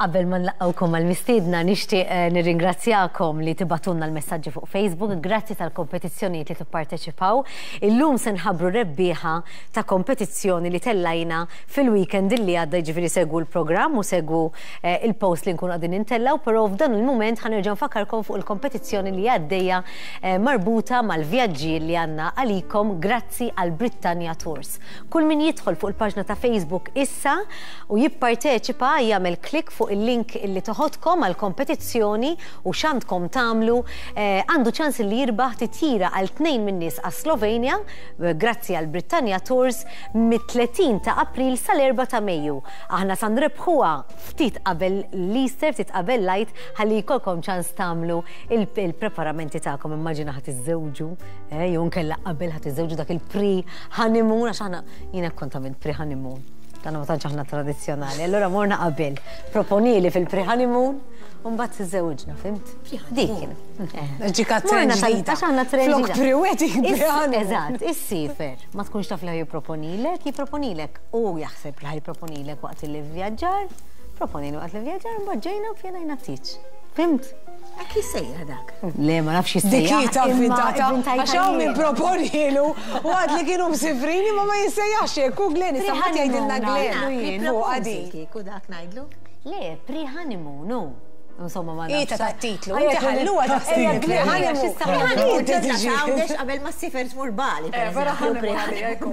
Qabel ma nlaqqgħukom għall-mistiedna nixtieq nirringrazzjakom li tibagħtulna l-messaġġi fuq Facebook. Grazzi tal-kompetizzjonijiet li tipparteċipaw. Illum se nħabbru rebbieħa ta' kompetizzjoni li tellajna fil-weekend illi għadda jiġifieri segwu l-programm u segwu il-post li nkunu qegħdin intellgħu, però f'dan il-mument ħa nerġa' nfakkarkom fuq il-kompetizzjoni li għaddejja marbuta mal-vjaġġi li għandna għalikom grazzi għal Brittania Tours. Kull min jidħol fuq il-paġna ta' Facebook issa u jipparteċipa jagħmel klikk fuq il-link illi toħodkom għall-kompetizzjoni u x'għandkom tagħmlu għandu ċans illi jirbaħ titjira għal tnejn min-nies għas-Slovenja grazzi għal Brittania Tours mit-30 ta' April sal-4 ta' Mejju. Aħna sa nrebħuha ftit qabel l-Easter, ftit qabel l-Għid ħalli jkollkom ċans tagħmlu il-preparamenti tagħkom. Immaġina ħa tiżżewġu jew inkella qabel ħa tiżżewġu dak il-pre-honeymoon għax aħna jiena kont għamilt pre-honeymoon. Dan ma tantx aħna tradizzjonali. Allura morna qabel. Proponili fil-pre-honeymoon u mbagħad tiżżewġna, fimt? Dik kien. Ġika trend ġdida. Għax aħna trend Flok pre-wedding, pre-honeymoon. Eżatt, issifer. Ma tkunx taf li ħa jipproponilek, jipproponilek. U jaħseb li ħa jipproponilek waqt li vvjaġġar, proponili waqt li vvjaġġar, mbagħad ġejna u ppjanajna t-tieġ. Fimt? Hekk jissejjaħ dak. Le, ma nafx jissejjaħ. Dik hi ta' vvintata. Għax hawn min proponielu u għad li kienu msifrin imma ma jissejjaħx hekk. U Glenn issa mbagħad jgħidilna Glenn fuqha din. Kieku dak ngħidlu. Le, pre-honeymoon hu. Insomma ma nafx. Hi ta' tat-titlu. Inti ħalluha ta' titlu. Pre-honeymoon. Pre-honeymoon tibda tgħawdex qabel ma ssifer tmur Bali. Vera honeymoon għalija jkun.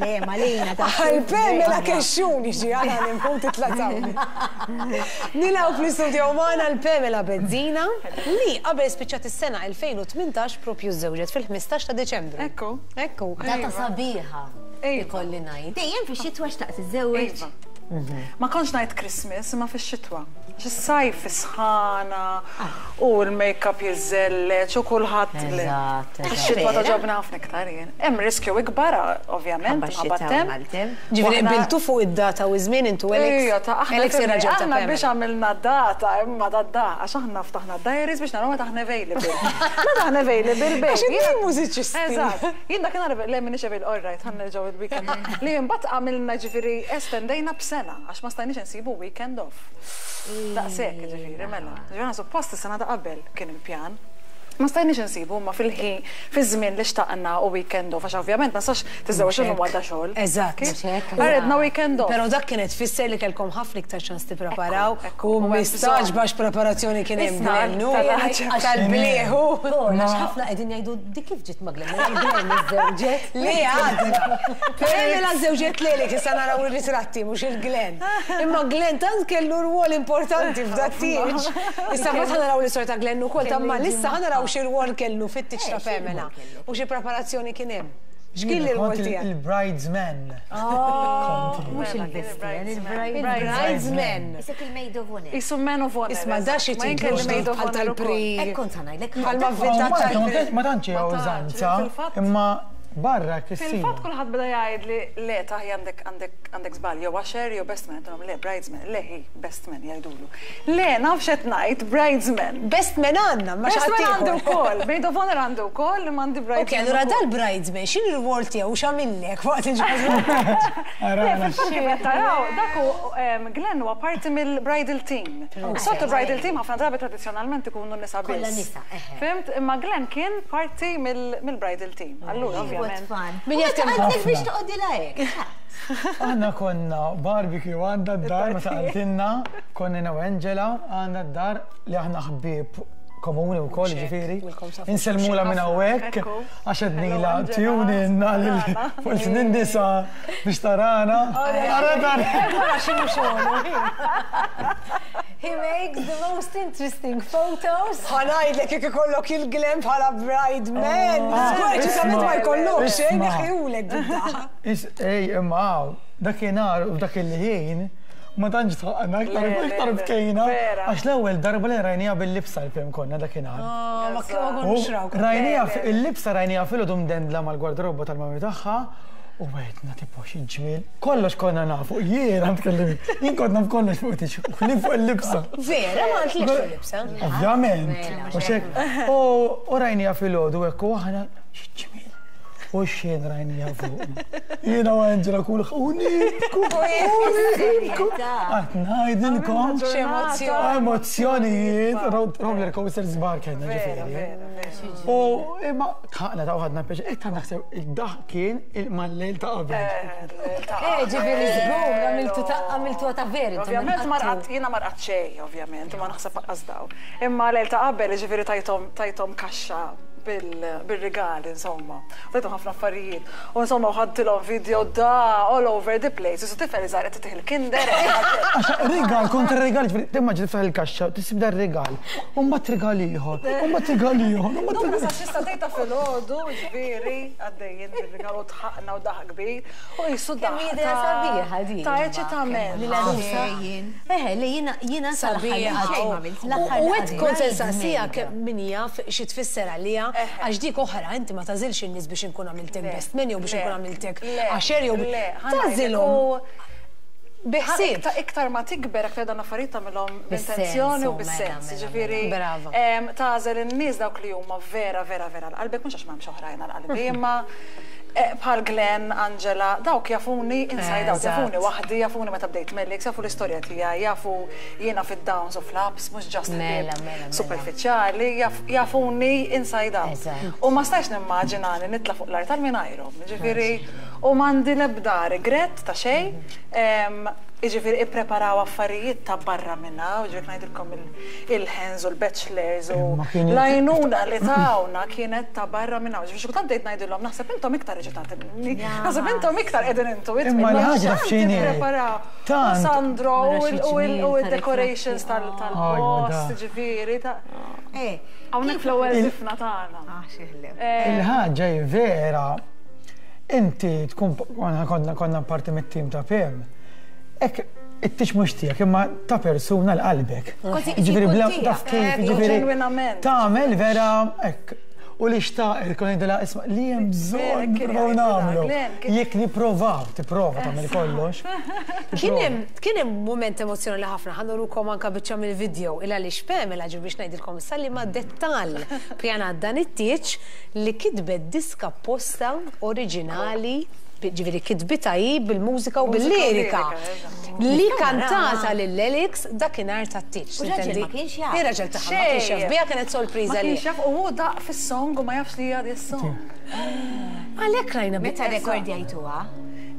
Le, malina ta' Għal Pamela Kexxun jiġi għal honeymoon titla' tgħawdex. Nilqgħu fl-istudio magħna l Pamela Bezzina li qabel spiċċat is-sena 2018 propju żżewġet fil-15 ta' Diċembru. Ekku. Ekku. Data sabiħa, ikolli ngħid. Dejjem fix-xitwa xtaqt tiżżewweġ? Iva. Ma kontx ngħid Christmas imma fix-xitwa. Għax is-sajf is-sħana u l-makeup jiżżelleġ u kulħadd. Eżatt. Ix-xitwa togħġobni ħafna iktar jien. Hemm riskju ikbar ovvjament minħabba t-temp. Ġifieri qbiltu fuq id-data u ż-żmien intu Alex? Ejja ta' aħna Alex ir-raġel ta' aħna Pamela. biex għamilna data imma da da għax aħna ftaħna d-diaries biex naraw meta aħna available. Meta aħna available babe. Għax intom mużiċisti. Eżatt. Jien dakinhar le m'iniex available, all right, ħa nerġgħu il-weekend. Li imbagħad għamilna ġifieri estendejna b'sena għax ma stajniex insibu weekend off. Daqshekk ġifieri mela. Ġifieri aħna suppost is-sena ta' qabel kien il-pjan. Ma stajniex insibu imma fil-ħin, fiż-żmien li xtaqna u weekend off għax ovvjament ma tistax tiżżewweġ illum għadha xogħol. Eżatt. Mhux hekk? Għaredna weekend off. Però dak kienet tfisser li kellkom ħafna iktar ċans tippreparaw Ekku, u u hemm mistagħġba x'preparazzjoni kien hemm Isma' Glenn, hu tal-għaġeb. tal-blieh hu. Paul, għax ħafna qegħdin jgħidu dik kif ġiet ma' Glenn, mela Glenn iżżewġet. Le għadna. Pamela żżewġet lilek, issa naraw ir-ritratti mhux il-Glenn. Imma Glenn tant kellu rwol importanti f'dat-tieġ. Issa mbagħad ħa naraw l-istorja ta' Glenn ukoll, ta' imma issa ħa naraw xi rwol kellu fit-tieġ ta' Pamela u xi preparazzjoni kien hemm. X'kien l-irwol Kont tiegħek? il-bridesman. Kont jien. Mhux il-best man, il-bridesman. Isek il-maid of honor. Isu man of honor. Isma' da xi Ma jien titlu kelli maid ġdid of bħal honor tal-pri. ukoll. Hekk kont ħa ngħidlek. Bħal ma Hawn vvintat Malta ma tal-pri. tantx ma tantx hija użanza, imma barra hekk issir. Fil-fatt kulħadd beda jgħidli le taħi għandek għandek għandek żball jew usher jew best man, għedtilhom le bridesman, le hi best man jgħidulu. Le naf x'qed ngħid bridesman. Best man għandna imma xi Best ħadd man għandi ieħor. wkoll, maid of honor għandi wkoll imma għandi Ok, bridesman allura ukoll. dal-bridesman x'inhu r-rwol tiegħu u x'għamillek waqt il-ġraġ? Le fil-fatt kif qed taraw dak hu Glenn huwa parti mill-bridal team. Soltu bridal team ħafna drabi tradizzjonalment ikunu nisa biss. Kollha nisa, eħe. Fhimt? Imma Glenn kien parti mill-bridal team. Allura ovvjament. What fun. Min jaf kemm Għandek biex toqgħodilha hekk. Aħna konna barbecue għandha d-dar meta qaltilna, konna jiena u Angela għandha d-dar li aħna ħbieb komuni wkoll ġifieri. Insellmulha minn hawnhekk għax għednilha tune in għal fuq il-snin nisa biex tarana. Ara tara. Ara x'inhu xogħlu. He makes the most interesting photos. Ħa ngħidlek jekk ikollok il-Glenn bħala bride man. Żgur ċertament ma jkollokx, eh, neħħihulek bid-daħqa. Ej, imma hawn, dakinhar u f'dak il-ħin ma tantx dħaqna, iktar iktar bkejna. Għax l-ewwel darba li rajniha bil-libsa l-film konna dakinhar. Ma konniex rawk. Rajniha il-libsa rajniha filgħodu mdendla mal-gwardarobba tal-mami tagħha u għedna tipo xi ġmiel. Kollox konna nafu, jiena tkellimni. Jien kont naf kollox fuq tix, ħlief fuq il-libsa. Vera, ma għandlekx fuq il-libsa. Ovvjament. U rajniha filgħodu hekk u aħna xi ġmiel. U xejn rajnija fuq. Jiena u Angela kull u nibku, u nibku. Qatt ngħidilkom. X'emozzjoni. Emozzjonijiet, roller coasters kbar kellna ġifieri. U imma tħaqna ta' ħadna pjaċir, qed naħseb id-daħ kien mal-lejl ta' qabel. Eh, ġifieri żgur, għamiltu ta' għamiltu ta' veri. Ovvjament ma rqadt, jiena ma rqadt xejn, ovvjament, ma naħseb lanqas daw. Imma lejl ta' qabel, ġifieri tajthom tajthom kaxxa bil-rigali, insomma. Tajthom ħafna affarijiet. U insomma, u ħadtilhom video da all over the place. Isu tifel iżgħar qed titih il-kinder. Għax rigal kontra rigal, ġifieri timmaġina tiftaħ il-kaxxa, tisib dar rigal, u mbagħad rigal ieħor, u mbagħad rigal ieħor, u mbagħad rigal. Sa xi sagħtejn ta' filgħodu, ġifieri, għaddejjin bir-rigal u dħaqna u daħq kbir. U qisu daħq. Kemm hi idea sabiħa din. Ta' eċitament. Li l-għarusa. Eħe, li jiena jiena sal-aħħar Sabiħa. U għedt kont se nsaqsiha kemm min jaf xi tfisser għaliha, għax dik oħra, inti ma tagħżilx in-nies biex inkun għamiltek best man jew biex inkun għamiltek usher jew tagħżilhom bi ħsieb. Iktar ma tikber, aktar dawn l-affarijiet tagħmilhom b'intenzjoni u bis-sens. Jiġifieri tagħżel in-nies dawk li huma vera vera vera għal qalbek, mhux għax m'hemmx oħrajn għal qalbi, imma Bħal Glenn, Angela, dawk jafuni inside out, jafuni waħdi, jafuni meta bdejt Melix, jafu l-istorja tiegħi, jafu jiena fid-downs u fl-ups, mhux just ħbieb superfiċjali, jafuni inside out. U ma stajtx nimmaġinani nitla' fuq l-artal mingħajrhom, jiġifieri, u m'għandi l-ebda regret ta' xejn. Jiġifieri ippreparaw affarijiet ta' barra minn hawn, jiġifieri ngħidilkom il-hens u l-bachelors u l-għajnuna li tawna kienet ta' barra minn hawn. Jiġifieri xi kultant bdejt ngħidilhom naħseb intom iktar eċitati minni, naħseb intom iktar qegħdin intu Imma l-ħaġa taf x'inhi? Tippreparaw. Tant. Sandro u l-decorations tal-post, jiġifieri ta' Hawnhekk fl-ewwel żifna tagħna. Il-ħaġa hi vera. Inti tkun konna parti mit-tim ta' PM. Hekk it-tieġ mhux tiegħek imma ta' persuna l qalbek. Jiġifieri bla taf kif, jiġifieri tagħmel vera hekk. U li xtaqet kont ngħidilha isma' li hemm bżonn nippruvaw nagħmlu. Jekk nipprovaw, tipprova tagħmel kollox. Kien hemm kien hemm mument emozzjonali ħafna, ħa nurukom anke biċċa mill-video il għaliex Pamela ġiet biex ngħidilkom issa liema dettall ppjanat dan it-tieġ li kitbet diska apposta oriġinali, ġifieri kitbitha hi bil-mużika u bil-lirika, li kantata lil Alex dakinhar tat-tieġ. U r-raġel ma kienx jaf. Ir-raġel tagħha ma kienx jaf biha, kienet sorpriża Ma għalih. kienx jaf u hu daqq fis-song u ma jafx li hija di s-song. Għalhekk rajna Meta rrekordjajtuha?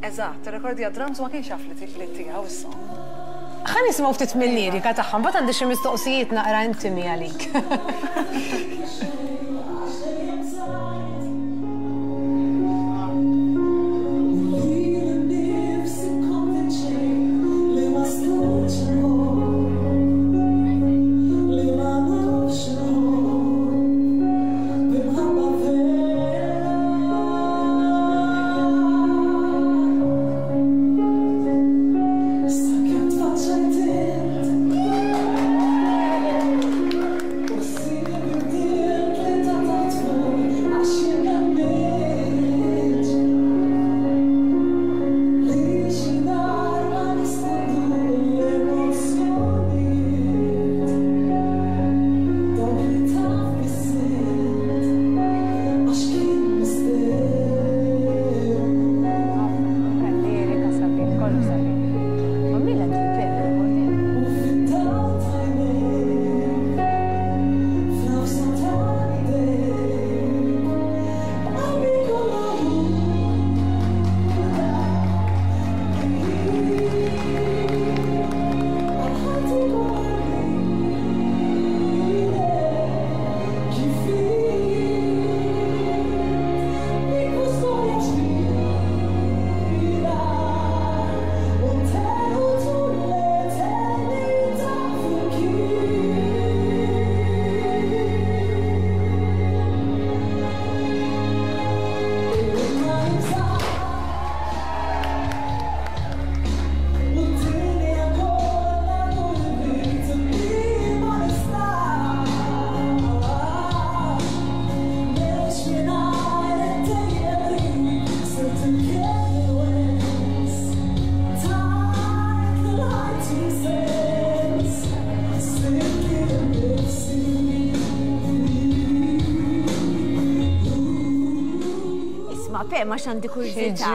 Eżatt, irrekordja drums u ma kienx jaf li tiegħu s-song. Ħa nisimgħu ftit mil-lirika tagħha, mbagħad għandi xi mistoqsijiet naqra intimi għalik. Pe, ma xandi kurżità.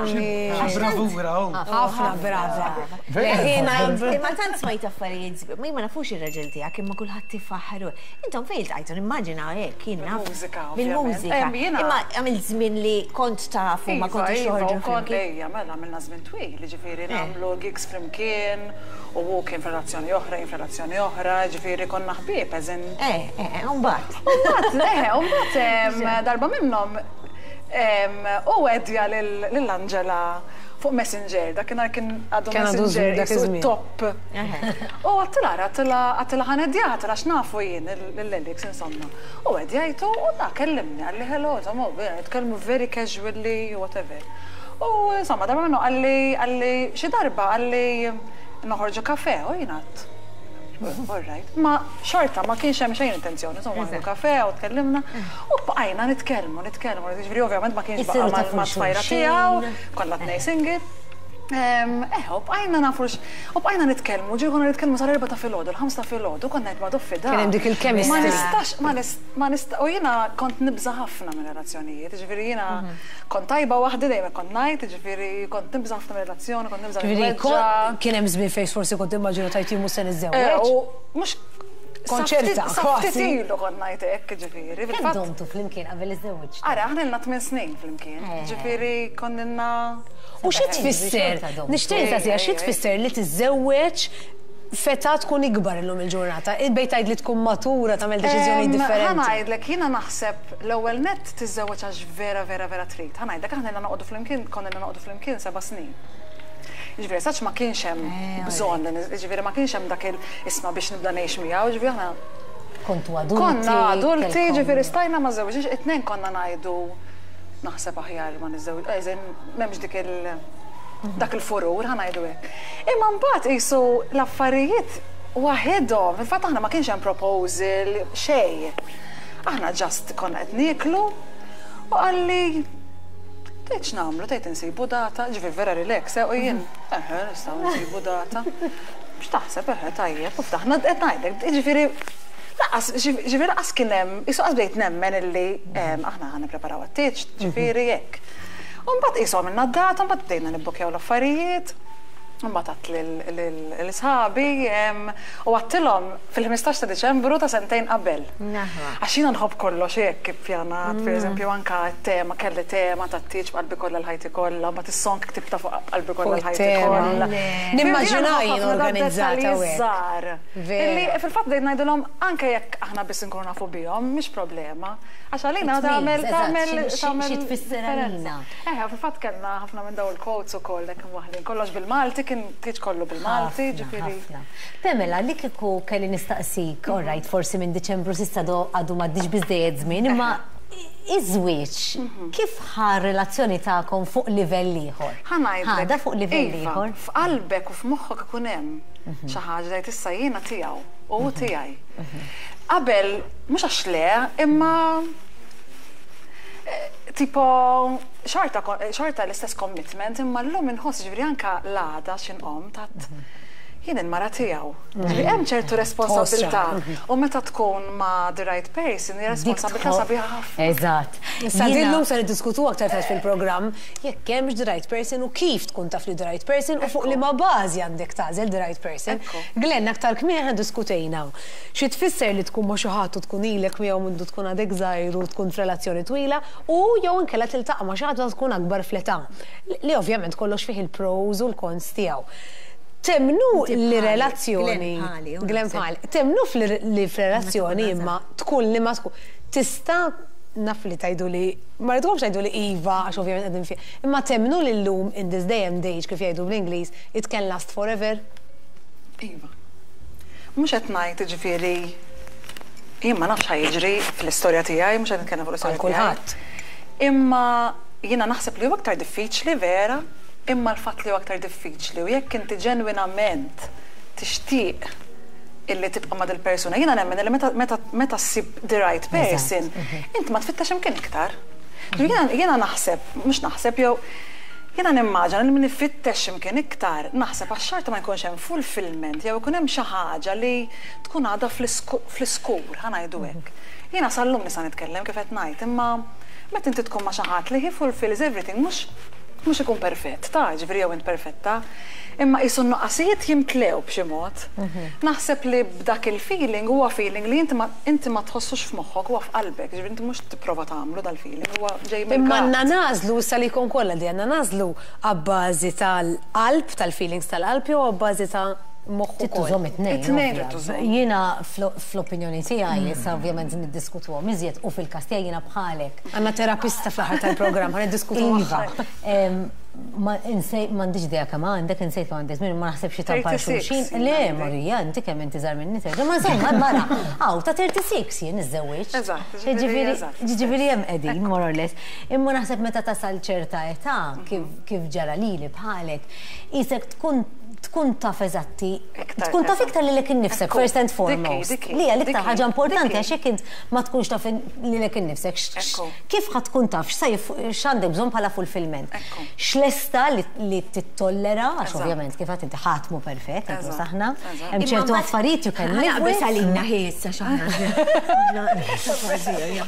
Bravura, oh. Ħafna brava. Imma tant smajt affarijiet sbieħ, ma jien ma nafux ir-raġel tiegħek imma kulħadd ifaħħru. Intom fejn iltqajtu nimmaġina hekk jien naf. Bil-mużika, ovvjament. Bil-mużika. Imma għamilt żmien li kont tafu ma kontux toħorġu flimkien. Ejja, mela għamilna żmien twil, jiġifieri nagħmlu gigs flimkien u hu kien f'relazzjoni oħra, jien f'relazzjoni oħra, jiġifieri konna ħbieb as in. Eh, eh, u mbagħad. U mbagħad, eh, u mbagħad darba minnhom u għedja lil Angela fuq Messenger, dakinhar kien għadu Messenger dak top. U għedtilha ara, għedtilha għedtilha ħa ngħeddjaha, għedtilha x'nafu jien lil Alex insomma. U għeddjajtu u da kellimni qalli hello, insomma, nitkellmu very casually, whatever. U insomma, darba minnu qalli qalli xi darba qalli noħorġu kafè u jien għedt all right. Ma xorta ma kienx hemm xejn intenzjoni, insomma, noħorġu kafè u tkellimna u bqajna nitkellmu, nitkellmu, jiġifieri ovvjament ma kienx baqa' mat-tfajla tiegħu, konna tnejn single. Eh, u bqajna nafu u bqajna nitkellmu, ġieli konna nitkellmu sal-4 ta' filgħodu, l-5 ta' filgħodu, konna ngħid ma doffi da. Kien hemm dik il-chemistry. Ma nistax, ma ma nista, u jiena kont nibża' ħafna minn relazzjonijiet, jiġifieri jiena kont tajba waħdi dejjem kont ngħid, jiġifieri kont nibża' ħafna minn relazzjoni, kont nibża' niweġġa'. Kien hemm żmien fejn forsi kont timmaġina tgħid jien mhux se niżżewweġ. U mhux Kont ċerta, Sa ftit ilu kont ngħid hekk, jiġifieri. Kemm domtu flimkien qabel iżżewwiġtu? Ara, aħna ilna tmien snin flimkien, jiġifieri konna ilna. U xi tfisser, nixtieq nistaqsiha, xi tfisser li tiżżewweġ f'età tkun ikbar illum il-ġurnata? Bejn tgħid li tkun matura tagħmel deċiżjonijiet differenti. Ħa ngħidlek, jiena naħseb l-ewwel nett tiżżewweġ għax vera vera vera trid. Ħa ngħidlek, aħna ilna noqogħdu flimkien, konna ilna noqogħdu flimkien seba' snin. Jiġifieri as such ma kienx hemm bżonn, jiġifieri ma kienx hemm dak il isma' biex nibda ngħix miegħu, jiġifieri aħna Kontu adulti. Konna adulti, jiġifieri stajna ma żżewġniex, it-tnejn konna ngħidu naħseb aħjar ma niżżewġ, as in m'hemmx dik il dak il-furur, ħa ngħidu hekk. Imma mbagħad qisu l-affarijiet waħedhom, fil-fatt aħna ma kienx hemm proposal, xejn. Aħna just konna qed nieklu u qalli Tgħid x'nagħmlu, tgħid insibu data, ġifieri vera relax, eh, u jien, eħe, nistgħu nsibu data. X'taħseb, eħe, tajjeb, u ftaħna, qed ngħidlek, jiġifieri lanqas, ġifieri lanqas kien hemm, qisu qas bdejt nemmen illi aħna ħa nippreparaw għat-tieġ, ġifieri hekk. U mbagħad qisu għamilna d-data, mbagħad bdejna nibbukkjaw l-affarijiet. Mbagħad għedt lil sħabi u għedtilhom fil-15 ta' Diċembru ta' sentejn qabel. Għax jiena nħobb kollox hekk ippjanat, pereżempju anke t-tema, kelli tema tat-tieġ b'qalbi kollha l-ħajti kollha, mbagħad is-song ktibtha fuq b'qalbi kollha l-ħajti kollha. Nimmaġina jien organizzata u hekk. Illi fil-fatt bdejt ngħidilhom anke jekk aħna biss inkunu nafu bihom, mhix problema. Għax għalina tagħmel tagħmel tagħmel. Xi tfisser għalina. Eħe, u fil-fatt kellna ħafna minn dawn il-quotes ukoll hekk imwaħħlin. Kollox bil-Malti, kien tieġ kollu bil-Malti, ġifieri. Ħafna. Pamela, li kieku kelli nistaqsik, all right, forsi minn Diċembru s'issa għadu m'għaddiex biżżejjed żmien, imma iż-żwieġ kif ħa r-relazzjoni tagħkom fuq livell ieħor? Ħa ngħidlek. Ħadha fuq livell ieħor? Iva, f'qalbek u f'moħħok ikun hemm xi ħaġa tgħid issa jiena tiegħu u hu tiegħi. Qabel, mhux għax le, imma tipo xorta xorta l-istess commitment, imma llum inħoss ġifieri anke l-għada x'inqom tat jien il-mara tiegħu. Ġifieri hemm ċertu responsabilità u meta tkun ma' the right person hija responsabilità sabiħa ħafna. Eżatt. Issa din llum se niddiskutuha aktar tard fil-programm jekk hemmx the right person u kif tkun taf li the right person u fuq liema bażi għandek tagħżel the right person. Glenn, aktar kmieni aħna ddiskutejna Xi tfisser li tkun ma' xi ħadd u tkun ilek miegħu mindu tkun għadek żgħir u tkun f'relazzjoni twila u jew inkella tiltaqa' ma' xi ħadd meta tkun akbar fl-età. Li ovvjament kollox fih il-pros u l-cons tiegħu. Temmnu li relazzjoni. Glenn bħali. Temmnu li f'relazzjoni imma tkun li ma tkun tista' naf li tgħiduli ma rridkomx tgħiduli iva għax ovvjament qegħdin fi imma temmnu li llum in this day and age kif jgħidu bl-Ingliż it can last forever? Iva. Mhux qed ngħid jiġifieri jien ma nafx ħa jiġri fl-istorja tiegħi, mhux qed nitkellem fuq l-istorja tiegħi. Għal kulħadd. Imma jiena naħseb li huwa aktar diffiċli vera, imma l-fatt li huwa aktar diffiċli u jekk inti ġenwinament tixtieq illi tibqa' ma' dil-persuna, jiena nemmen illi meta meta meta ssib the right person, inti ma tfittex imkien iktar. Jiena jiena naħseb, mhux naħseb jew Jiena nimmaġina li min ifittex xi mkien iktar, naħseb għax xorta ma jkunx hemm fulfilment jew ikun hemm xi ħaġa li tkun għadha fl-iskur, ħa ngħidu hekk. Jiena sal-lum nista' nitkellem kif qed ngħid, imma meta inti tkun ma' xi ħadd li he fulfills everything mhux mhux ikun perfett, ta' jiġifieri jew int perfetta, imma qisu n-nuqqasijiet jimtlew b'xi mod. Naħseb li b'dak il-feeling huwa feeling li inti ma inti ma tħossux f'moħħok, huwa f'qalbek, jiġifieri inti mhux tipprova tagħmlu dal-feeling, huwa ġej Imma mill-gut. għandna nagħżlu issa li jkun kollha di għandna nagħżlu abbażi tal-qalb, tal-feelings tal-qalb jew abbażi ta' moħħ Trid ukoll. tużhom it-tnejn. It-tnejn trid ovvja. tużhom. Jiena fl-opinjoni tiegħi, issa ovvjament niddiskutuhom iżjed u fil-każ tiegħi jiena bħalek. Għandna terapista fl-aħħar tal-programm, ħa niddiskutu Iva. magħha. Ma insej m'għandix idea kemm għandek, insejt kemm għandek żmien, ma naħsebx li tampar 36 xulxin. jien Le, għandi. Marija, inti kemm inti żgħar minni terġa'. Ma insomma, mara, hawn ta' 36 jien iżżewwiġt. Eżatt, ġifieri, Ġifieri eżatt, ġifieri hemm qegħdin, more or less. Imma naħseb meta tasal ċerta età, kif kif ġara lili bħalek, isek tkun tkun taf eżatti, Iktar, tkun taf eżatt. iktar lilek innifsek, Ekku, first and dikki, foremost. dikki, Li hija l-iktar dikki, ħaġa importanti dikki. għax jekk int ma tkunx taf lilek innifsek, Ekku. kif ħa tkun taf x'għandek bżonn bħala fulfillment. Ekku. X'lesta li li tittollera, għax ovvjament kif għad inti ħadd mhu perfett, inkluż aħna, hemm ċertu affarijiet you can live with. Għalina ħissa xaħna.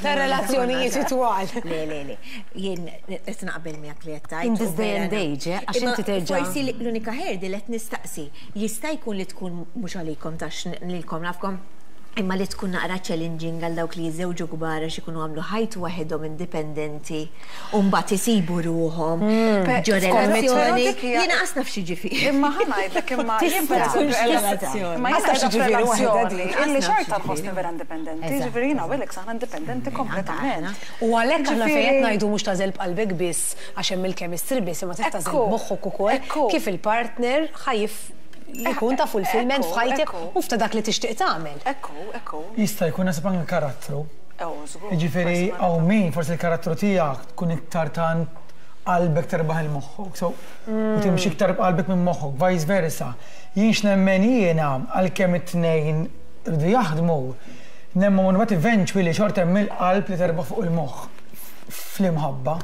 Ta' relazzjonijiet twal. Le, le, le. Jien qed naqbel miegħek li qed tgħid. In this day and age, għax inti terġa'. Forsi l-unika ħerdi li qed nistaqsi, jista' jkun li tkun mhux għalikom tax lilkom nafkom, imma li tkun naqra challenging għal dawk li jiżewġu kbar għax ikunu għamlu ħajtu waħedhom indipendenti u mbagħad isibu ruħhom ġo relazzjoni. Jiena qas naf xi ġifieri. Imma ħa ngħidlek imma jien Tista' pereżempju relazzjoni. Imma jiena Qas naf xi qiegħda ġifieri waħedha f'relazzjoni dik. illi Qas naf xorta xi nħossni ġifieri. vera indipendenti, ġifieri jiena u Alex aħna indipendenti kompletament. U għalhekk aħna fejn qed Ġifieri- ngħidu mhux tagħżel b'qalbek biss għax hemm il-chemistry biss imma trid tagħżel Ekku, b'moħħok ukoll ekku. kif il-partner ħajif jkun ta' fulfillment Ekku, f'ħajtek ekku. u f'ta' dak li tixtieq tagħmel. Ekku, ekku. Jista' jkun nasib anke karattru. Ew, żgur. Jiġifieri hawn min forsi l-karattru tiegħek tkun iktar tant qalbek terbaħ il-moħħok. So, u timxi iktar b'qalbek minn moħħok, vice versa. Jien x'nemmen jiena għalkemm it-tnejn rridu jaħdmu, nemmen mbagħad eventually xorta hemm il-qalb li terbaħ fuq il-moħħ fl-imħabba,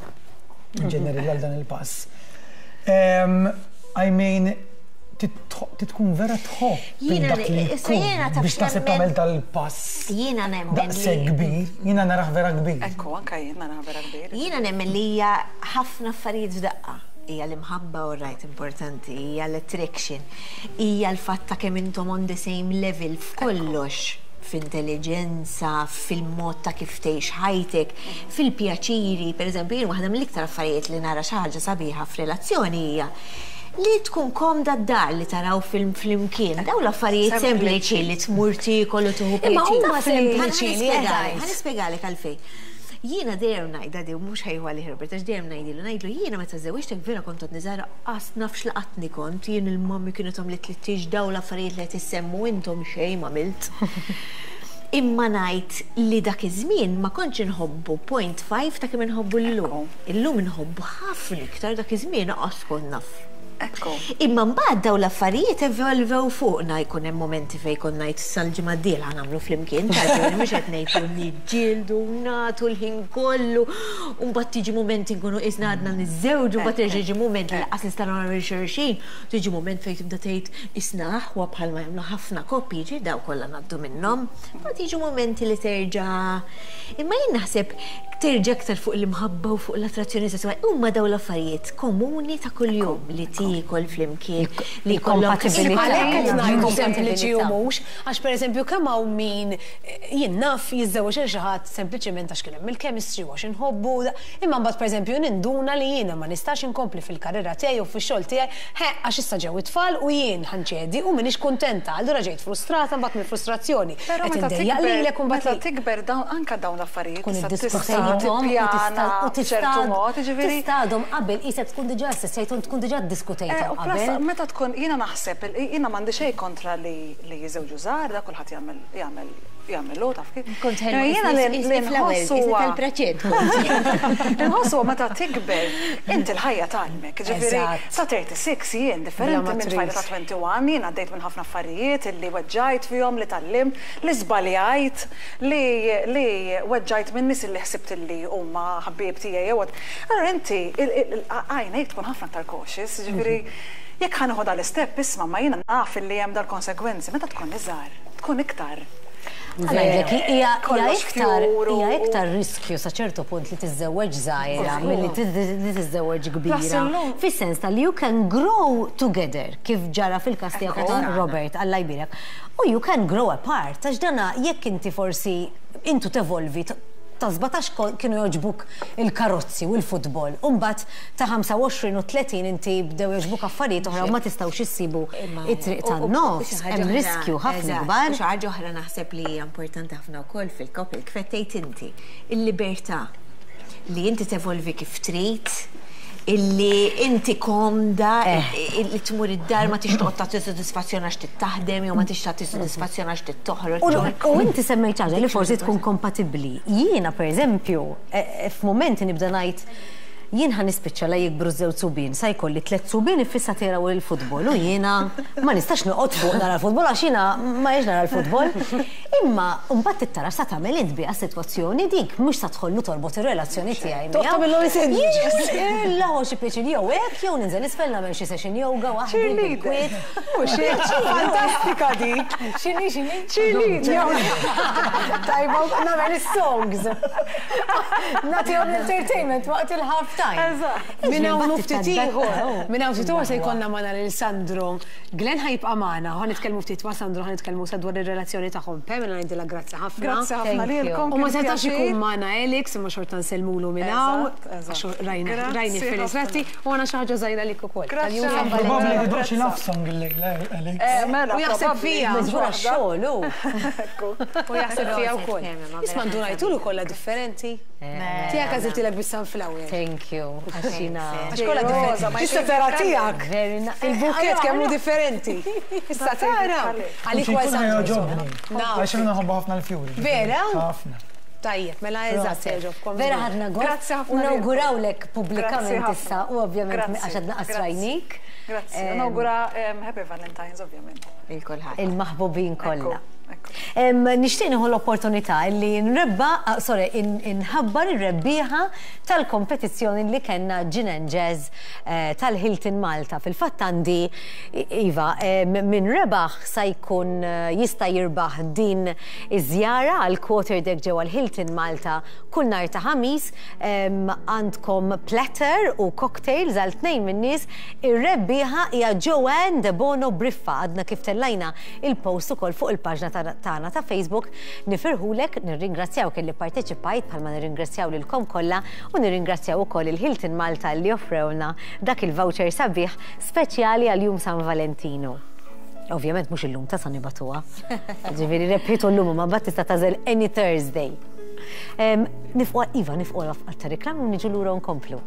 in ġenerali għal dan il-pass. I mean, titkun vera tħobb Jiena dak li issa jiena jkun taf biex taħseb nemmen- tagħmel dal-pass. Jiena nemmen Daqshekk li kbir, jiena narah vera kbir. Ekku, anka jien nara vera kbir. Jiena nemmen li hija ħafna affarijiet f'daqqa. Hija l-imħabba all right importanti, hija l-attraction, hija l-fatt ta' kemm intom on the same level f'kollox f'intelligenza, fil-mod ta' kif tgħix ħajtek, fil-pjaċiri, per eżempju, jien waħda mill-iktar affarijiet li nara xi ħaġa sabiħa f'relazzjoni hija li tkun komda d-dar li taraw film flimkien. Daw l-affarijiet sempliċi li tmur tiekol u tieħu Imma pjaċir. huma sempliċi li qed Ħa nispjegalek għalfejn. Jiena dejjem ngħidha di mhux ħajħu għalih Robert, għax dejjem ngħidilu, ngħidlu jiena meta żewġtek vera kont għadni żgħira qas nafx laqatni kont, jien il-mommy kienet għamlet li tieġ daw l-affarijiet li qed issemmu intom xejn m'għamilt. Imma ngħid li dak iż-żmien ma kontx inħobbu 0.5 ta' kemm inħobbu llum. Illum inħobbu ħafna iktar dak iż-żmien qas kont naf. Ekku. Imma mbagħad daw l-affarijiet evolvew fuqna jkun hemm momenti fejn kont ngħid sal-ġimgħa d-dieħla nagħmlu flimkien, tal mhux qed ngħidu niġġieldu nagħtu l-ħin kollu, u mbagħad tiġi momenti nkunu qisna għadna niżżewġu, mbagħad terġa' jiġi mument li laqas nistgħu nagħmlu xulxin, tiġi mument fejn tibda tgħid isna aħwa bħalma jagħmlu ħafna koppji, ġi daw kollha ngħaddu minnhom. Mbagħad jiġu momenti li terġa' imma jien naħseb terġa' aktar fuq l-imħabba u fuq l-attrazzjoni sesswali. Huma daw l-affarijiet komuni ta' kuljum li tiekol flimkien, li jkollok Il-kompatibilità. Għalhekk qed ngħidu Il-kompatibilità. sempliċi u mhux, għax pereżempju kemm hawn min jien naf jiżżewweġ il xi ħadd sempliċement għax kien hemm il-chemistry u għax inħobbu, imma mbagħad pereżempju ninduna li jiena ma nistax inkompli fil-karriera tiegħi u fix-xogħol tiegħi, he għax issa ġew it-tfal u jien ħanċedi u m'iniex kuntenta, allura ġejt frustrata mbagħad mill-frustrazzjoni. Però Qed meta indejjaq tikber, lilek u mbagħad meta tikber dawn anka dawn l-affarijiet tkun tista' tista' iddiskutejthom u tippjana b'ċertu mod, jiġifieri. tistadhom qabel qisek tkun diġà assessjajthom tkun diġà ddiskutejthom U plus, qabel. meta tkun, jiena naħseb, jiena m'għandi xejn kontra li li jiżewġu żgħar, da kulħadd jagħmel jagħmel jagħmel taf kif. Kont ħelwa, Jiena li li fl-ewwel, nħoss huwa tal-preċed. Nħoss huwa meta tikber, inti l-ħajja tgħallmek, ġifieri Eżatt. sa 36 jien differenti Bla ma minn tfajla ta' trid. 21, jien għaddejt minn ħafna affarijiet illi weġġajt fihom, li tgħallimt, li żbaljajt, li li weġġajt minn nies illi ħsibt illi huma ħabbieb tiegħi jew Allora inti għajnejk tkun ħafna aktar cautious, ġifieri jekk ħa nieħu dal-istep isma' ma jiena naf illi hemm dal-konsegwenzi, meta tkun iżgħar, tkun iktar. Ngħidlek, hija iktar hija iktar riskju sa ċertu punt li tiżżewweġ żgħira milli li tiżżewweġ kbira. Fis-sens ta' li you can grow together kif ġara fil-każ tiegħek u ta' Robert, Alla jbierek. U you can grow apart għax dana jekk inti forsi intu tevolvi ta' 17 kienu jogħġbuk il-karozzi u l-futbol u mbagħad ta' 25 u 30 inti bdew jogħġbuk affarijiet oħra u ma tistgħux issibu it-triq tan-nofs, hemm riskju ħafna ikbar. U xi ħaġa oħra naħseb li hija importanti ħafna wkoll fil-couple, kif qed tgħid inti, il-libertà li inti tevolvi kif trid, illi inti komda, illi tmur id-dar ma tix toqgħod tagħti sodisfazzjon għax trid taħdem jew ma tix tagħti sodisfazzjon għax trid toħroġ. U inti semmejt xi ħaġa li forsi tkun kompatibbli. Jiena pereżempju, f'mumenti nibda ngħid jien ħa nispiċċa la jikbru ż-żewġ subien, sa jkolli tlett subien iffissati jaraw il-futbol u jiena ma nistax noqgħod fuq nara l-futbol għax jiena ma jiex nara l-futbol. Imma mbagħad trid tara x'sa tagħmel int biha s-sitwazzjoni dik, mhux sa tħollu torbot ir-relazzjoni tiegħi miegħu. Toqgħod tagħmilhom sandwiches. L-aħwa xi pjaċir jew hekk jew ninżel isfel nagħmel xi session yoga waħdi bil-kwiet. Mhux hekk, fantastika dik. X'inhi x'inhi? Cheerleader. Tajba nagħmel is-songs. Nagħtihom l-entertainment waqt il-half time. Minn hawn u ftit ieħor, minn hawn ftit ieħor se jkollna magħna lil Sandro. Glenn ħa jibqa' magħna, ħa nitkellmu ftit ma' Sandro, ħa nitkellmu sa dwar ir-relazzjoni tagħhom. Pamela ngħidilha grazzi ħafna. Grazzi ħafna lilkom. U ma setax ikun magħna Alex, imma xorta nsellmulu minn hawn. Għax rajna rajni fir-ritratti u għandna xi ħaġa żgħira lik ukoll. Grazzi ħafna. Probabbli jridu xi love song illejla Alex. Mela, U jaħseb fija. Miżgur għax-xogħol hu. U jaħseb fija wkoll. Isma' ndunajtulu kollha differenti. Tiegħek għażiltilek bis-sunflower. Thank you. Għax jiena. Għax kollha differenti. Issa tara tiegħek. Il-bukett kemm hu differenti. Issa tara. Għalik huwa jogħġobni. Għax jiena nħobb ħafna l-fjuri. Vera? Ħafna. Tajjeb, mela eżatt se jogħġobkom. Vera ħadna gost. U nawgurawlek pubblikament issa u ovvjament għax għadna qasrajnik. Grazzi. Nawgura Happy Valentine's ovvjament. Lil kulħadd. Il-maħbubin kollha. Nixtieq nieħu l-opportunità li nrebba, ah, sorry, inħabbar ir-rebbieħa tal-kompetizzjoni li kellna Gin and Jazz eh, tal-Hilton Malta. Fil-fatt għandi iva, min rebaħ sa jkun eh, jista' jirbaħ din iż-żjara għal quarter deck ġewwa l-Hilton Malta kull nhar ta' ħamis għandkom platter u cocktails għal tnejn min-nies. Ir-rebbieħa hija Joanne Debono Briffa għadna kif tellajna il-post ukoll fuq il-paġna tagħna ta' Facebook. Nifirħulek, nirringrazzjawk illi pparteċipajt bħalma nirringrazzjaw lilkom kollha u nirringrazzjaw ukoll il-Hilton Malta li offrewlna dak il-voucher sabiħ speċjali għal Jum San Valentinu. Ovvjament mhux illum ta' sa nibatuha. Ġifieri rebħitu llum imma mbagħad tista' tagħżel any Thursday. Nifqu iva nifqu għal ta' reklam u niġu lura nkomplu.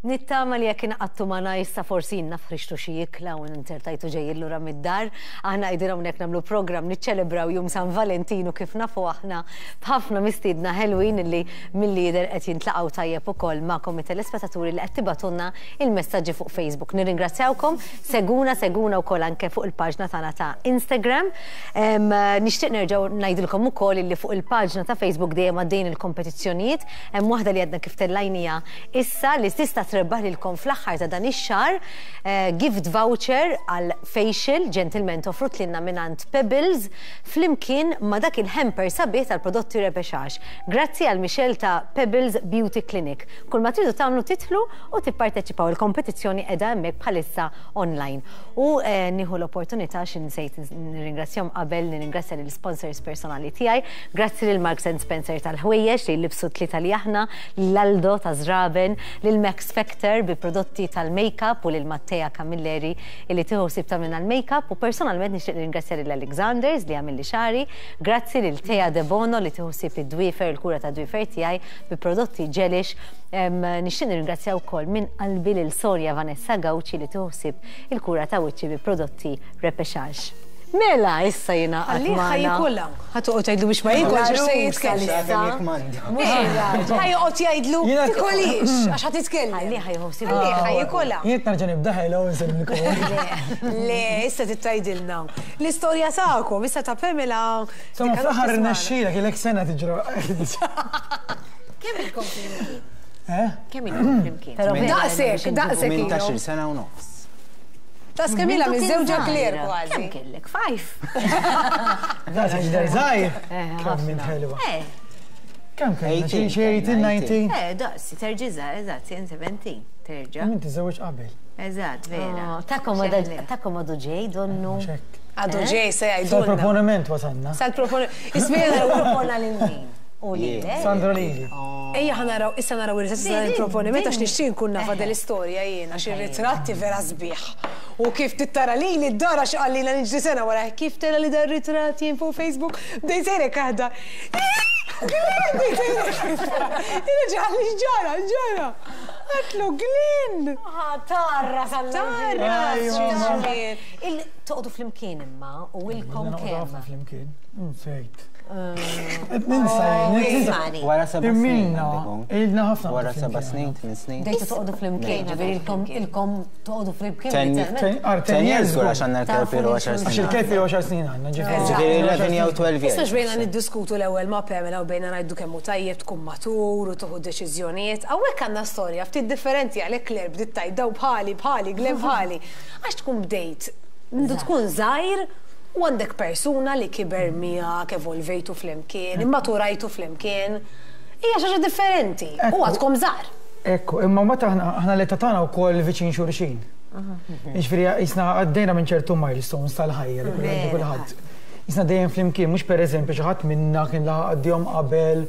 Nittama li jekk inqattu magħna issa forsi naf ħriġtu xi ikla u inzertajtu ġejjin lura mid-dar. Aħna qegħdin hawnhekk nagħmlu programm niċċelebraw Jum San Valentinu kif nafu aħna b'ħafna mistiedna ħelwin illi milli jidher qed jintlaqgħu tajjeb ukoll magħkom it-telespettaturi li qed tibagħtulna il-messaġġi fuq Facebook. Nirringrazzjawkom, seguna, seguna wkoll anke fuq il-paġna tagħna ta' Instagram. Nixtieq nerġgħu ngħidilkom ukoll illi fuq il-paġna ta' Facebook dejjem għaddejjin il-kompetizzjonijiet, hemm waħda li għadna kif tellajniha issa li tista' trebbaħ lilkom fl-aħħar ta' dan ix-xahar eh, gift voucher għal facial ġentilment offrut lilna mingħand Pebbles flimkien ma' dak il-hamper sabiħ tal-prodotti Repechage. Grazzi għal Michelle ta' Pebbles Beauty Clinic. Kull ma tridu tagħmlu tidħlu u tipparteċipaw il-kompetizzjoni qiegħda hemmhekk bħalissa online. U nieħu l-opportunità xi nsejt nirringrazzjahom qabel nirringrazzja lill-sponsors personali tiegħi. Grazzi lil Marks and Spencer tal-ħwejjeġ li jlibbsu t-tlieta li aħna, lil Aldo ta' Żraben, lil Max Factor bi prodotti tal-makeup u lil Mattea Camilleri illi tieħu ħsieb tagħmilna l-makeup u personalment nixtieq nirringrazzja lil Alexanders li għamilli xagħri, grazzi lil Thea Debono li tieħu ħsieb id-dwiefer, il-kura tad-dwiefer tiegħi bi prodotti Gelish. Nixtieq nirringrazzja wkoll minn qalbi lil Sonia Vanessa Gauci li tieħu ħsieb il-kura ta' wiċċi bi prodotti Repechage. Mela, issa jingħaqad Għalli magħna. ħa jikolha. Ħa toqgħod tgħidlu biex ma jikolx għax se jitkellem. Ħa joqgħod jgħidlu tikolix għax ħa titkellem. Għalli ħa jieħu ħsieb. Għalli ħa jikolha. Jien nerġa' nibda hello nsellmilkom. Le, issa trid tgħidilna. L-istorja tagħkom, issa ta' Pamela. Insomma, fl-aħħar irnexxielek ilek sena tiġri. Kemm ilkom flimkien? Eh? Kemm ilkom flimkien? Daqshekk, daqshekk. 18-il sena u nofs. Ta' skemila miżżewġa Claire kważi. Kemm kellek? Five? Daqshekk jidher żgħir. Kemm int ħelwa. Kemm kellna? Xi 18, 19? Eh, daqsi, terġa' żgħar, eżatt, jien 17, terġa'. Inti żewġ qabel. Eżatt, vera. Tagħkom għadu ġej donnu. Għadu ġej se jgħidulna. Sal-proponiment wasalna. Sal-proponiment. Ismina propona lil min? U lilek? Sandro lili. Ejja ħa naraw, issa naraw ir-ritratti tal-proponiment għax nixtieq nkun nafha din l-istorja jien għax ir-ritratti vera sbieħ. U kif tittara lili d-dar għax qalli ilha niġri sena wara kif tara li dar-ritratt jien fuq Facebook bdejt sejrek aħdar. Glenn bdejt sejrek. Reġa' qalli x'ġara, x'ġara. Għedtlu Glenn. Tarra Tarra. Toqgħodu flimkien imma u ilkom kemm. Noqogħdu ħafna flimkien. Nsejt. Qed ninsa jien. Ismani. Wara seba' snin. Ilna, ilna ħafna. Wara seba' snin, tmien snin. Bdejtu toqgħodu flimkien, ġifieri ilkom ilkom toqgħodu flimkien. Ten years żgur għax għandna l-kelb ilu għaxar snin. Għax il-kelb ilu għaxar snin għandna, ġifieri. Ġifieri 11 jew 12 years. Issa xbejna niddiskutu l-ewwel ma' Pamela u bejna ngħidu kemm hu tajjeb tkun matur u tieħu deċiżjonijiet. Hawnhekk għandna storja ftit differenti għalhekk Claire bdiet tgħid daw bħali, bħali, Glenn bħali. Għax tkun bdejt mindu tkun żgħir u għandek persuna li kiber miegħek, evolvejtu flimkien, immaturajtu flimkien, hija xi ħaġa differenti. U għadkom żgħar. Ekku, imma mbagħad aħna aħna l-età tagħna wkoll viċin xulxin. Jiġifieri qisna għaddejna minn ċertu milestones tal-ħajja li kull għaddi kulħadd. Qisna dejjem flimkien, mhux pereżempju xi ħadd minna kien laħaq għaddihom qabel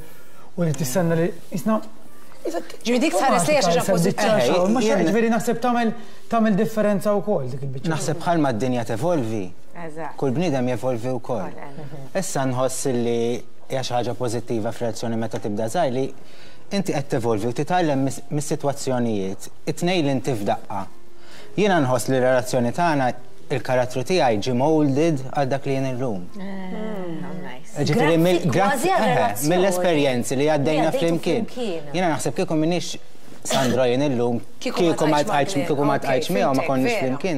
u li tistenna li qisna Ġifieri dik tħares lejha xi ħaġa pożittiva. Mhux ġifieri naħseb tagħmel tagħmel differenza wkoll dik il-biċċa. Naħseb bħalma d-dinja tevolvi, kull bniedem jevolvi wkoll. Issa nħoss li hija xi ħaġa pożittiva f'relazzjoni meta tibda żgħir li inti qed tevolvi u titgħallem mis-sitwazzjonijiet, it-tnejn li inti f'daqqa. Jiena nħoss li r-relazzjoni tagħna il-karattru tiegħi ġie molded għal dak li jien illum. Ġifieri mill-esperjenzi li għaddejna flimkien. Jiena naħseb kieku m'iniex Sandro jien illum, kieku ma ltqajtx miegħu ma konniex flimkien,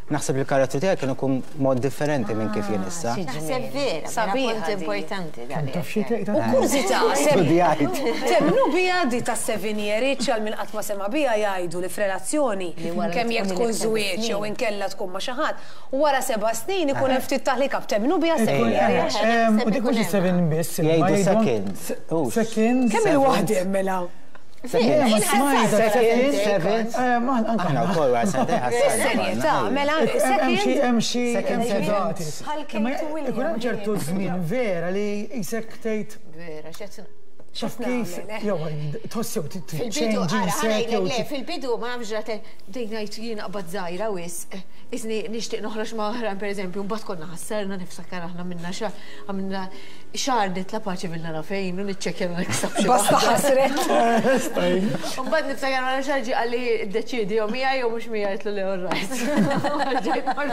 naħseb li l-karattru tiegħi kien ikun mod differenti minn kif jien issa. Naħseb vera, vera punt importanti dan. Taf xi tgħid? U kurżità, Studjajt. Temmnu biha di ta' seven year itch għal min qatt ma sema' biha jgħidu li f'relazzjoni kemm jekk tkun żwieġ jew inkella tkun ma' xi ħadd, wara seba' snin ikun hemm ftit taħlika b'temmnu biha seven year itch? U dik mhux is-seven biss, imma Jgħidu jgħidu seconds. Hux. Seconds. Kemm il-waħda hemm mela? Seven. Aħna wkoll wara sentejn ħassajna. Bis-serjetà, mela Hemm xi second. hemm xi hemm xi Second. dati. Bħal Kate Imma u William. Ikun hemm ċertu żmien vera li qisek tgħid Vera, x'qed taf kif jew tħoss jew Fil-bidu, change ara, insek ngħidlek, jew le, fil-bidu ma nafx ġrat, bdejt ngħid jien aqbad żgħira wisq, isni nixtieq noħroġ ma' oħrajn pereżempju, mbagħad konna ħassarna niftakar aħna minna xahar, għamilna xahar nitla' paċi mill-nara fejn u niċċekkja ma niksabx xi Basta waħda. ħasret. U mbagħad niftakar wara xahar ġie qalli ddeċiedi jew miegħi jew mhux miegħi għedtlu le all right.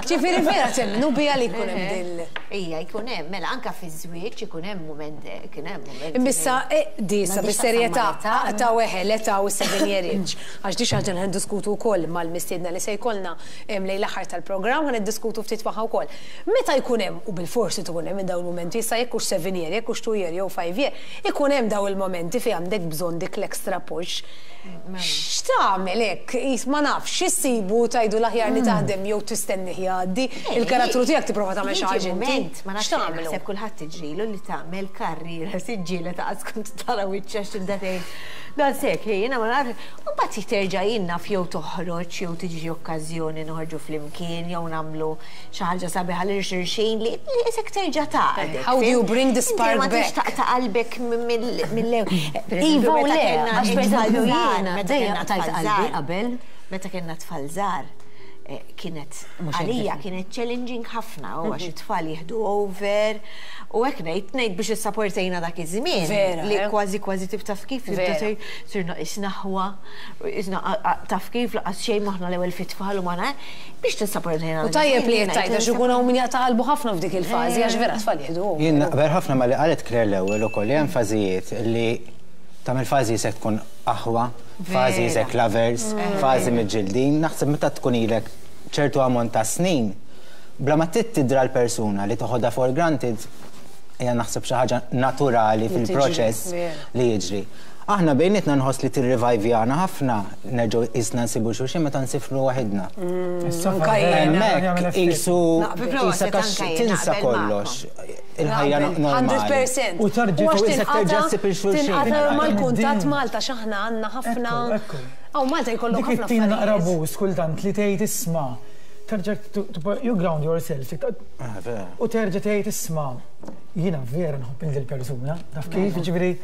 Ġifieri vera temmnu biha li jkun hemm dil. Ija, jkun hemm, mela anke fiż-żwieġ ikun hemm mument, kien hemm mument. Immissa, di issa M'għandix bis-serjetà, x'taqsam mal-età. aqta' weħel, età u seven year itch. Għax di xi ħaġa li ħa niddiskutu wkoll mal-mistiedna li se jkollna lejn l-aħħar tal-programm, ħa niddiskutu ftit magħha wkoll. Meta jkun hemm, u bilforsi tkun hemm minn dawn il-mumenti, issa jekk hux seven year, jekk hux two year jew five year, ikun hemm dawn il-momenti fejn għandek bżonn dik l-extra push. X'tagħmel hekk? Qis ma nafx, x'issibu tgħidu l-aħjar li taħdem jew tistennih jgħaddi, il-karattru tiegħek tipprova tagħmel xi ħaġa inti. Moment, ma nafx X'tagħmlu? naħseb kulħadd tiġrilu li tagħmel karriera siġġiela ta' qatt kont tara wiċċha x'tibda tgħid. Dan sek, hi, jiena ma nafx. U mbagħad terġa' jien naf jew toħroġ jew tiġi okkażjoni noħorġu flimkien jew nagħmlu xi ħaġa sabiħa lil xulxin li isek terġa' taqgħdek. How do you bring the spark Ma back? taqta' qalbek mill-lew. Iva u le, għax per eżempju jiena dejjem qtajt qalbi qabel. Meta kellna tfal żgħar, Kienet għalija kienet challenging ħafna u għax it-tfal jieħdu over u hekk ngħid ngħid biex issapportejna dak iż-żmien li eh? kważi kważi tib taf kif tibda sirna qisna ħwa qisna taf kif laqas xejn maħna l-ewwel fit-tfal u magħna biex tissapportejna. U tajjeb li qed tgħid għax ikun hawn min jaqta' qalbu ħafna f'dik il-fażi għax vera tfal jieħdu over. Jien naqbel ħafna ma li qalet Claire l-ewwel ukoll li hemm fażijiet li tagħmel fażi se tkun aħwa, fażi isek lovers, fażi miġġildin, naħseb meta tkun ilek ċertu ammont ta' snin, bla ma trid tidra l-persuna li toħodha for granted, hija naħseb xi ħaġa naturali fil-proċess li jiġri. Aħna bejnietna nħoss li tirrivajvjana ħafna nerġgħu qisna nsibu xulxin meta nsifru waħidna. Hemmhekk qisu qisek għax tinsa kollox. Il-ħajja normali. 100%. U tarġa' U għax Isek terġa' ssib il xulxin. Tinqata' mal-kuntatt Malta x'aħna għandna ħafna. Hawn Malta jkollok Dik ħafna it-tina naqra affarijiet. boost kultant li tgħid isma' terġa' you ground yourself. U terġa' tgħid isma' jiena vera nħobb lil dil-persuna, taf kif, jiġifieri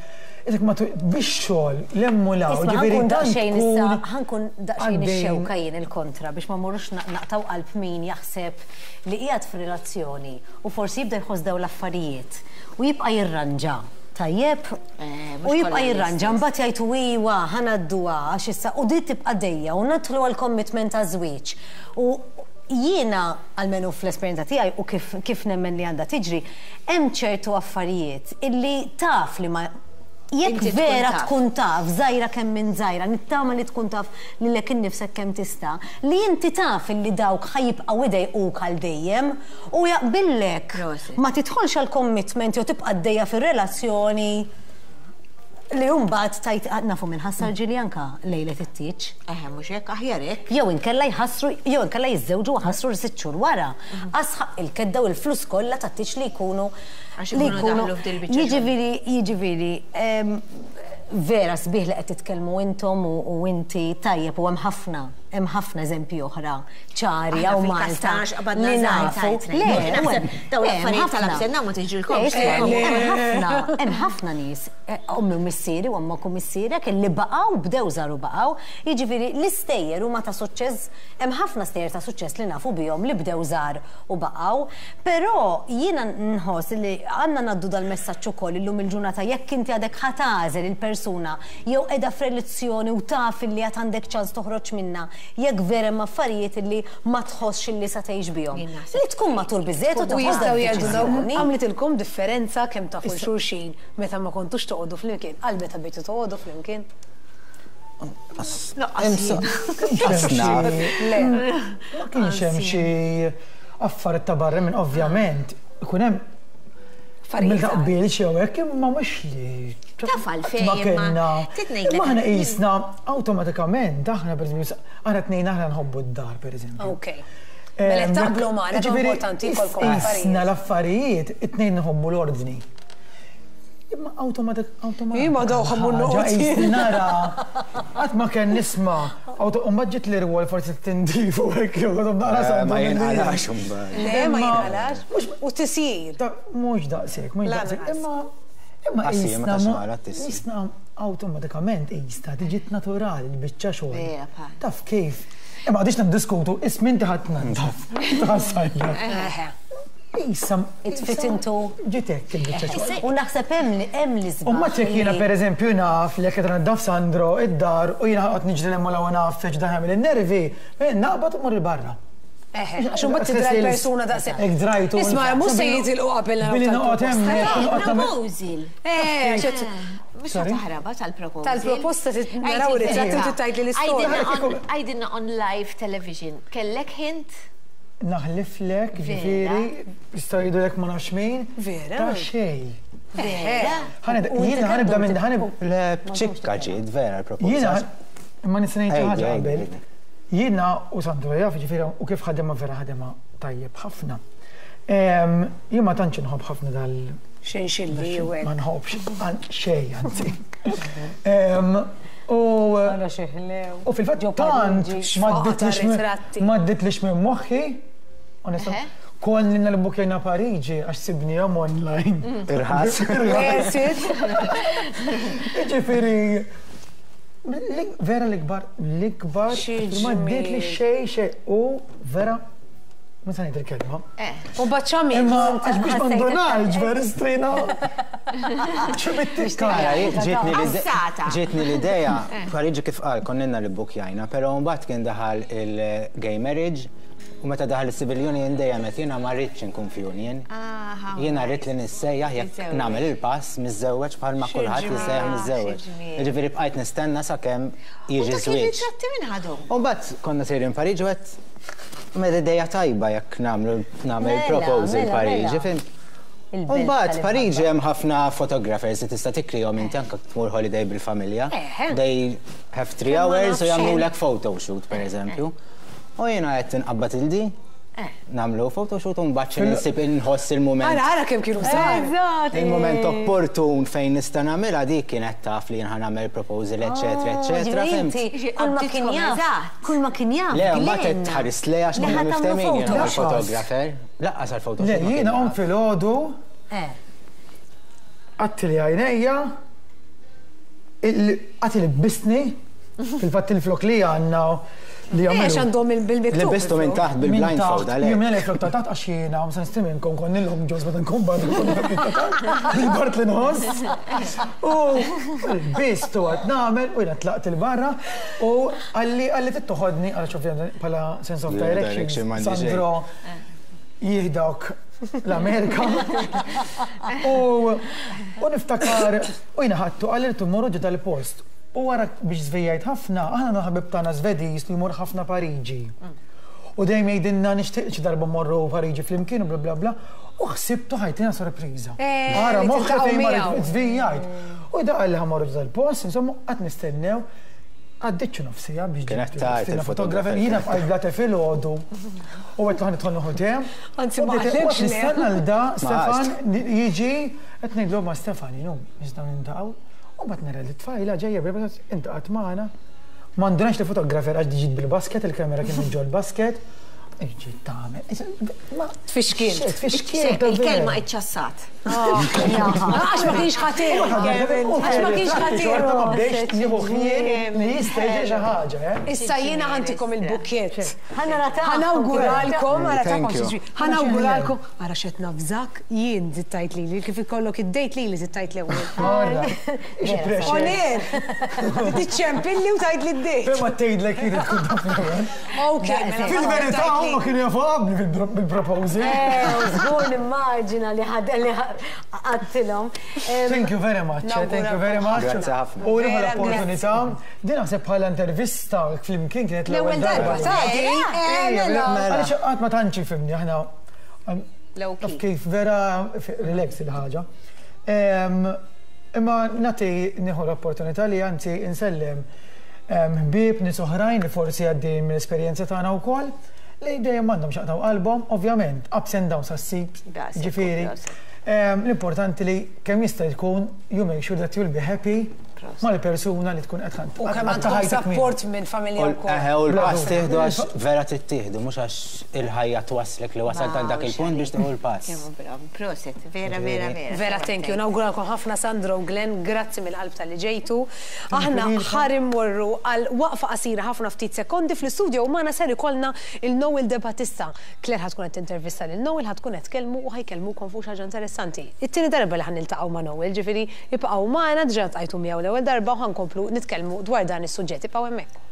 isek ma bix xogħol l-hemm u l-hawn, Isma' jiġifieri ħankun tant daqsxejn issa, tkun ħankun daqsxejn għaddejn. ix-xewka jien il-kontra biex ma mmorrux naqtgħu qalb min jaħseb li qiegħed f'relazzjoni u forsi jibda jħoss dawn l-affarijiet u jibqa' jirranġa, tajjeb? U jibqa' jirranġa mbagħad jgħid u iwa ħa ngħadduha għax issa u di tibqa' dejja u nidħlu għall-commitment taż-żwieġ. U jiena, almenu fl-esperjenza tiegħi u kif kif nemmen li għandha tiġri, hemm ċertu affarijiet illi taf li ma jekk Inti tkun vera taf. tkun taf, żgħira kemm int żgħira, nittama li tkun taf lilek innifsek kemm tista', li inti taf illi dawk ħa jibqgħu idejquk għal dejjem u jaqbillek Prosit. ma tidħolx għal commitment jew tibqa' għaddejja fir-relazzjoni li mbagħad tgħid ah, nafu min ħassar ġieli anke lejlet it-tieġ. Eħe, mhux hekk, aħjar hekk. Jew inkella jħassru, jew inkella jiżżewġu u ħassru sitt xhur wara. Għax ħaqq il-kedda u l-flus kollha tat-tieġ li jkunu Għax li ikunu daħlu f'dil biċċa xogħol. Jiġifieri, jiġifieri, vera sbieħ li qed titkellmu intom u inti tajjeb u hemm ħafna, hemm ħafna eżempji oħra ċari Aħna hawn fil-każ Malta tagħna x'qabadna li żgħar nafu. tajt Le, ngħid. u Naħseb hemm- dawn le, hemm l-affarijiet ħafna. tal-ups and down ma tiġrilkomx. Le, hemm ħafna, hemm ħafna nies, ommi u missieri u ommok u missierek li baqgħu bdew żgħar u baqgħu. Jiġifieri l-istejjer huma ta' suċċess, hemm ħafna stejjer ta' suċċess li nafu bihom li bdew żgħar u baqgħu, però jiena nħoss li għandna ngħaddu dal-messaġġ ukoll illum il-ġurnata jekk inti għadek ħa tagħżel il-persuna jew qiegħda f'relazzjoni u taf illi għad għandek ċans toħroġ minnha jekk vera hemm affarijiet illi ma tħossx illi sa tgħix bihom. Jien naħseb Li tkun matur biżżejjed u U toħodha jistgħu jgħidu dawn d-deċiżjoni. għamlitilkom differenza kemm tafu xulxin meta ma kontux toqogħdu flimkien għal meta bdejtu toqogħdu flimkien. Naf. Le. Ma kienx hemm xi affarijiet ta' barra minn ovvjament ikun hemm Affarijiet mill taqbil xi hekk imma mhux li Taf għalfejn, ma imma kellna. trid ngħidlek Imma aħna qisna awtomatikament aħna pereżempju aħna tnejn aħna nħobbu d-dar pereżempju. Ok. Mela qed taqblu magħna kemm Ġifieri, importanti jkollkom Isna affarijiet. l-affarijiet, it-tnejn nħobbu l-ordni. Imma automatik, automatik. Imma daw ħobbu l-ordni. Nara, qatt ma kien nisma', u mbagħad ġiet li rwol forsi t-tindif u hekk jew għadhom naqra Ma sandu jinqalax imbagħad. Le, ma Imma- jinqalax. U tisjir. Mhux daqshekk, mhux daqshekk. Lanqas. Imma imma Qassi, ma qisna tax mo- naqra t-tisjir. qisna awtomatikament qisna tiġi naturali l-biċċa xogħol. Vera, bħal. Taf kif? Imma għadix niddiskutu, ismin tiħat nandaf. Tħassajja. Eħe. Issa. It fit into Ġitek il-biċċa xogħol. U naħseb hemm li hemm li U ma ċek jiena per eżempju naf li jekk qed naddaf Sandro id-dar u jiena ħaqgħod niġri l-hemm u naf feġ dan jagħmel in-nervi, naqbad u mmur il-barra. Eħe, għax imbagħad tidra l-persuna daqshekk. Hekk drajtu. Isma' mhux se jitilqu qabel naraw Billi noqgħod hemm. tal-proposta. noqgħod nagħmel- Proposal. Eh, għax qed- Mux Sorry? taħraba tal-proposal. Tal-proposta naraw ritratti u tgħidli l-istorja. Għajdilna on live television. Kellek hint? Naħliflek, ġifieri, jistgħu jgħidulek ma nafx min. Vera? Ta' xejn. Vera? Ħanibda, jiena ħanibda minn ħanib. Le, b'ċikka ġiet, vera l-proposta. Jiena, imma nista' ngħid xi Ejdi, ħaġa ejdi, qabel. ejdi. Jiena u Sandro jaf, ġifieri, u kif ħadema vera ħadema tajjeb ħafna. Jien ma tantx inħobb ħafna dal. Xinxilli u hekk. Ma nħobbx xejn, anzi. U Ara xi ħlew. u fil-fatt Ġo tant Pariġi. ma Xfaqta dditlix minn- ritratti. ma dditlix minn moħħi, onestament, Eħe. konni nal-bukjena Pariġi għax sibnihom online. Irħas. Esit. Ġifieri, Vera l-ikbar, l-ikbar, ma ddiet li xej xej u vera, ma sa ngħid il-kelma. U baċċami. Imma għax biex ma ndunajx vera strina. ċubittikka. Ġietni l-idea, Pariġi kif qal konna li bukjajna, però mbagħad kien daħal il-gay marriage u meta daħal il-civil union dejjem qed jiena ma rridx inkun f'union. Jiena rrid li nissejjaħ jekk nagħmel il-pass miżżewweġ bħalma kulħadd jissejjaħ miżżewweġ. Jiġifieri bqajt nistenna sakemm jiġi żwieġ. Ritratti minn ħadhom. U mbagħad konna sejrin Pariġi u għedt mela ideja tajba jekk nagħmlu nagħmel proposal Pariġi, fim? U mbagħad Pariġi hemm ħafna photographers li tista' tikrihom inti anke tmur holiday bil-familja. They have 3 hours u jagħmlulek photoshoot pereżempju. U jiena qed inqabbad il-di, nagħmlu photoshoot u mbagħad xi nsib inħoss il-mument. Ara, ara kemm kienu żgħar. Il-mument opportun fejn nista' nagħmilha dik kienet taf li jien ħa nagħmel proposal, eċetera, eċetera. Fimt? Kull ma kien jaf, kull ma kien jaf. Le, mbagħad qed tħares lejha għax konna miftehmin jiena mal-photographer. Lanqas għall-photoshoot. Le, jiena qomt filgħodu. Għatti li għajnejja, għatti li bisni, fil-fatt il-flok li għandna li għamlu. Għax għandhom bil-miktub. Li bistu minn taħt bil-blindfold, għalek. Jien minn flok ta' taħt għax jiena, msa nistiminkom kon nilhom ġoż meta nkun barra bil-bart li nħoss. U bistu għad nagħmel u jiena tlaqt il-barra u għalli għalli tittoħodni għal ovvjament bħala sense of direction. Sandro jieħdok l-Amerika. U niftakar, u jiena ħadtu għalli timmorru ġo dal-post. U wara biex żvijajt ħafna, aħna ħabib tagħna Svediż li jmur ħafna Pariġi. U dejjem jgħidilna nixtieq xi darba mmorru Pariġi flimkien u bla bla bla. U ħsibtu ħa jtina sorpriża. Ara moħħi fejn mar żvijajt. U da qalli ħa mmorru ġo dal-post, insomma, qatt nistennew. Għaddiċċu nofsija biex Kienet tard il-photographer. Jiena bqajt bla te filgħodu. U għedt ħa nidħol nieħu te. Anzi, ma qalekx le. Nistenna l da Stefan jiġi, qed ngħidlu ma Stefan, jinu, nistgħu nintaqgħu. U mbagħad nara li tfajla ġejja bla intaqgħet magħna. Ma ndunax li photographer għax ġiet bil-basket, il-kamera kien ġol basket. Ġiet tagħmel. Tfixkil. Tfixkil. Il-kelma iċċassat. Għax ma kienx ħatir. Għax ma kienx ħatir. Xorta ma bdejx nieħu ħin li jista' jiġi xi ħaġa, eh? Issa jiena ħa ntikom il-bukkett. Ħa nara ta' Ħa nawguralkom, ara ta' Thank you. ħa nawguralkom, ara xet nafżak, jien zittajt li kif ikollok id-date li li zittajt l-ewwel. Ora, xi pressure. Oner, tiċċempilli u tajt li d-date. Ma tgħidlek jien tkun taf l-ewwel. Ok, mela. Fil-verità huma kienu jafu qabli bil-proposal. Żgur nimmaġina li ħad li għattilhom. Thank you very much, thank you very much. Grazzi ħafna. U nieħu l-opportunità, din naħseb bħala intervista flimkien kienet l-ewwel darba. Ta' di, mela. Għaliex qatt ma tantx fimni aħna taf kif vera relax il-ħaġa. Imma nagħti nieħu l-opportunità li anzi insellem ħbieb nies oħrajn li forsi għaddejjin mill-esperjenza tagħna wkoll li dejjem m'għandhom x'jaqtgħu qalbhom, ovvjament, ups and downs għas-sib, ġifieri. L-importanti li kemm jista' jkun you make sure that you'll be happy mal-persuna li tkun qed U kemm għandkom support minn familja wkoll. Eħe, u l-pass tieħdu għax vera tittieħdu, mhux għax il-ħajja twaslek li wasalt għal dak il-punt biex tieħu l-pass. Prosit, vera, vera, vera. Vera, thank you. Nawguralkom ħafna Sandro u Glenn, grazzi mill-qalb tal-li ġejtu. Aħna ħa mmorru għal waqfa qasira ħafna ftit sekondi fl-istudio u magħna ser ikollna il-Noel De Battista. Claire ħa tkun qed intervista lil Noel, ħa tkun qed tkellmu u ħa jkellmukom fuq xi ħaġa interessanti. It-tieni darba li ħa niltaqgħu ma' Noel, ġifieri ibqgħu magħna diġà ltqajtu miegħu l-ewwel darba u ħa nkomplu nitkellmu dwar dan is-suġġett. Ibqgħu hemmhekk.